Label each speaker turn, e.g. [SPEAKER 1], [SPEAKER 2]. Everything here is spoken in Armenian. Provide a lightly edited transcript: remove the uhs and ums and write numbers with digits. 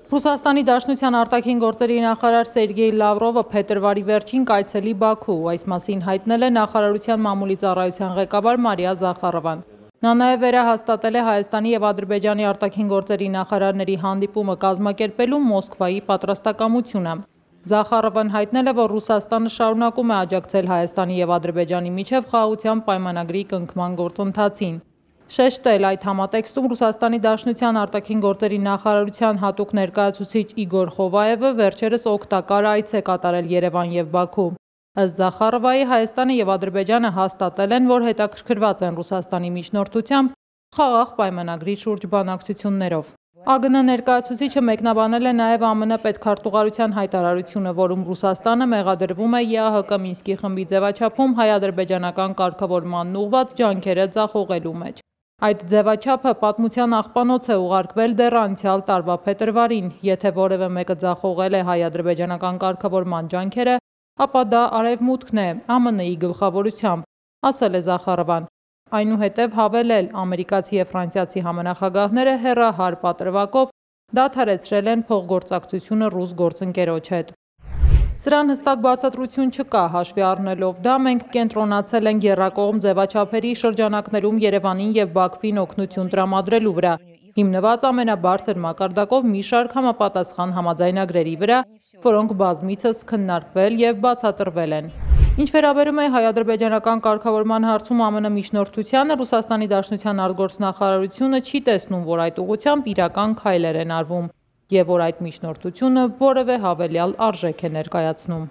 [SPEAKER 1] Ռուսաստանի Դաշնության արտաքին գործերի նախարար Սերգեյ Լավրովը փետրվարի վերջին կայցելի Բաքու, այս մասին հայտնել է նախարարության մամուլի ծառայության ղեկավար Մարիա Զախարովան։ Նա նաև վերահաստատել է Հայաստանի և Ադրբեջանի արտաքին գործերի նախարարների հանդիպումը կազմակերպելու Մոսկվայի պատրաստակամությունը։ Զախարովան հայտնել է, որ Ռուսաստանը շարունակում է աջակցել Հայաստանի և Ադրբեջանի միջև խաղաղության պայմանագրի կնքման գործընթացին։ Շեշտել այդ համատեքստում Ռուսաստանի Դաշնության արտաքին գործերի նախարարության հատուկ ներկայացուցիչ Իգոր Խովայևը վերջերս օգտակար այց է կատարել Երևան և Բաքու։ Ըստ Զախարովայի, Հայաստանը և Ադրբեջանը հաստատել են, որ հետաքրքրված են Ռուսաստանի միջնորդությամբ խաղաղ պայմանագրի շուրջ բանակցություններով։ ԱԳՆ ներկայացուցիչը մեկնաբանել է նաև ԱՄՆ պետքարտուղարության հայտարարությունը, որում Ռուսաստանը մեղադրվում է ԵԱՀԿ Մինսկի խմբի ձևաչափում հայ-ադրբեջանական կարգավորմանն ուղղված ջանքերը ձախողելու մեջ։ Այդ ձևաչափը պատմության աղբանոց է ուղարկվել դեռ անցյալ տարվա փետրվարին։ Եթե որևէ մեկը ձախողել է հայ-ադրբեջանական կարգավորման ջանքերը, ապա դա Արևմուտքն է ԱՄՆ-ի գլխավորությամբ, ասել է Զախարովան։ Այնուհետև հավելել, ամերիկացի և ֆրանսիացի համանախագահները հեռահար պատրվակով դադարեցրել են փոխգործակցությունը ռուս գործընկերոջ հետ։ Սրան հստակ բացատրություն չկա, հաշվի առնելով դա, մենք կենտրոնացել ենք եռակողմ ձևաչափերի շրջանակներում Երևանին և Բաքվին օգնություն տրամադրելու վրա, հիմնված ամենաբարձր մակարդակով մի շարք համապատասխան համաձայնագրերի վրա, որոնք բազմիցս քննարկվել և բացատրվել են։ Ինչ վերաբերում է հայ-ադրբեջանական կարգավորման հարցում ԱՄՆ միջնորդությանը, Ռուսաստանի Դաշնության արտգործնախարարությունը չի տեսնում, որ այդ ուղղությամբ իրական քայլեր են արվում, և որ այդ միջնորդությունը որևէ հավելյալ արժեք է ներկայացնում։